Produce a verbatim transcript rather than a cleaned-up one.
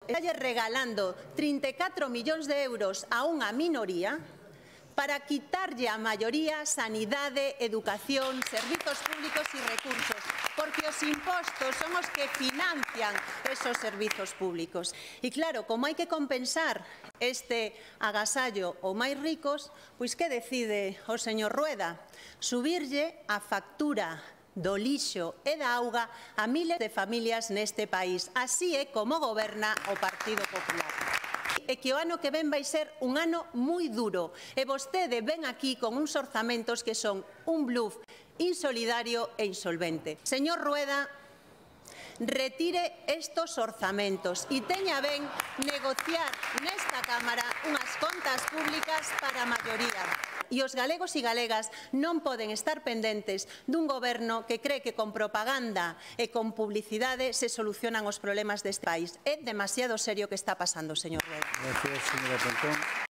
Está regalando trinta e catro millóns de euros a unha minoría para quitarlle a maioría sanidade, educación, servizos públicos e recursos, porque os impostos son os que financian esos servizos públicos. E claro, como hai que compensar este agasallo aos máis ricos, pois que decide o señor Rueda? Subirlle a factura do lixo e da auga a miles de familias neste país. Así é como goberna o Partido Popular. E que o ano que ven vai ser un ano moi duro. E vostede ven aquí con uns orzamentos que son un bluff insolidario e insolvente. Señor Rueda, retire estos orzamentos e teña ben negociar nesta Cámara unhas contas públicas para a maioría. E os galegos e galegas non poden estar pendentes dun goberno que cree que con propaganda e con publicidade se solucionan os problemas deste país. É demasiado serio o que está pasando, señor Rueda. Gracias, señora Pontón.